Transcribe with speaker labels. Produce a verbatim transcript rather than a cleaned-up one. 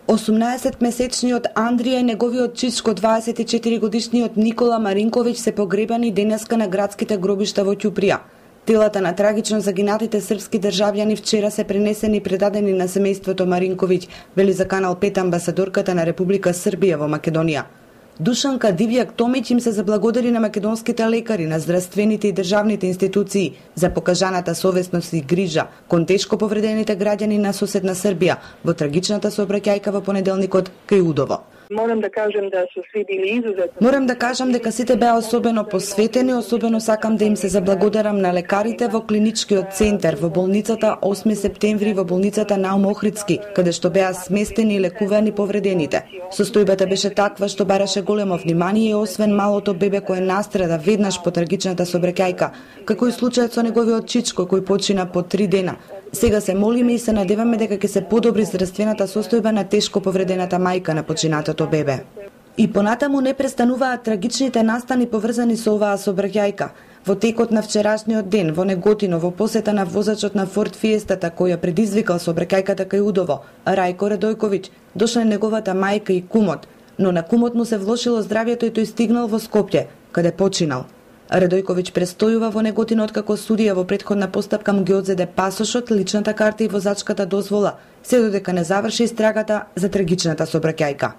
Speaker 1: осумнаесетмесечниот Андрија и неговиот чичко дваесет и четири годишниот Никола Маринковиќ се погребани денеска на градските гробишта во Ќуприја. Телата на трагично загинатите српски државјани вчера се пренесени и предадени на семејството Маринковиќ, вели за Канал пет амбасадорката на Република Србија во Македонија. Душанка Дивјак Томиќ им се заблагодари на македонските лекари, на здравствените и државните институции за покажаната совесност и грижа кон тешко повредените граѓани на соседна Србија во трагичната сообраќајка во понеделникот кај Удово.
Speaker 2: Морам да кажам да се сви били изузетно.
Speaker 1: Морам да кажам дека сите беа особено посветени, особено сакам да им се заблагодарам на лекарите во клиничкиот центар, во болницата осми септември, во болницата Наум Охридски, каде што беа сместени и лекувани повредените. Состојбата беше таква што бараше големо внимание и освен малото бебе кое настрада веднаш по трагичната сообраќајка, како и случајот со неговиот чичко кој почина по три дена. Сега се молиме и се надеваме дека ќе се подобри здравствената состојба на тешко повредената мајка на починатото бебе. И понатаму не престануваат трагичните настани поврзани со оваа сообраќајка. Во текот на вчерашниот ден во Неготино, во посета на возачот на Форд Фиестата која предизвикал сообраќајката кај Удово, Рајко Радојковиќ, дошла неговата мајка и кумот, но на кумот му се влошило здравјето и тој стигнал во Скопје, каде починал. Радојковиќ престојува во Неготино откако судија во претходна постапка му ги одзеде пасошот, личната карта и возачката дозвола, се додека не заврши истрагата за трагичната сообраќајка.